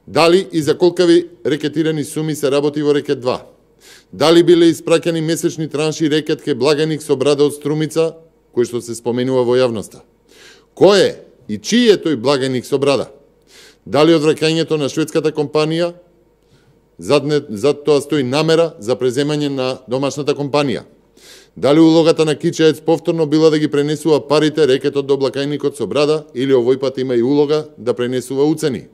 Дали и за колкави рекетирани суми се работи во рекет 2? Дали биле испраќани месечни транши рекет ке Благајник со брада од Струмица, кој што се споменува во јавноста? Кој е и чиј е тој Благајник со брада? Дали одвраќањето на шведската компанија, зад тоа стои намера за преземање на домашната компанија? Дали улогата на Кичаец повторно била да ги пренесува парите рекетот до Благајникот со брада или овој пат има и улога да пренесува уцени?